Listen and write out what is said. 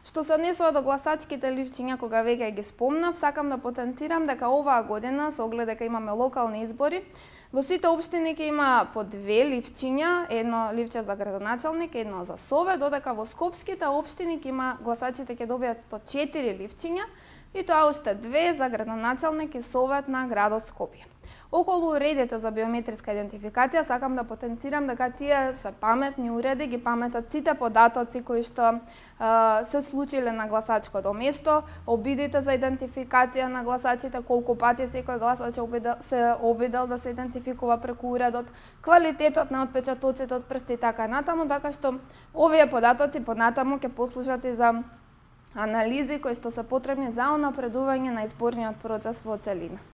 Што се однесува до гласачките ливчиња, кога веќе ги спомнав, сакам да потенцирам дека оваа година, со оглед дека имаме локални избори, во сите општини ќе има по 2 ливчиња, едно ливче за градоначалник, едно за совет, додека во скопските општини ќе има гласачите ќе добијат по 4 ливчиња, и тоа уште 2 за градоначалник и совет на градот Скопје. Околу уредите за биометриска идентификација сакам да потенцирам дека тие се паметни уреди, ги паметат сите податоци кои што се случиле на гласачкото место, обидите за идентификација на гласачите, колку пати секој гласач се обидел да се идентификува преку уредот, квалитетот на отпечатоците од прсти и така натаму, така што овие податоци понатаму ќе послужат и за анализи кои што се потребни за унапредување на изборниот процес во целина.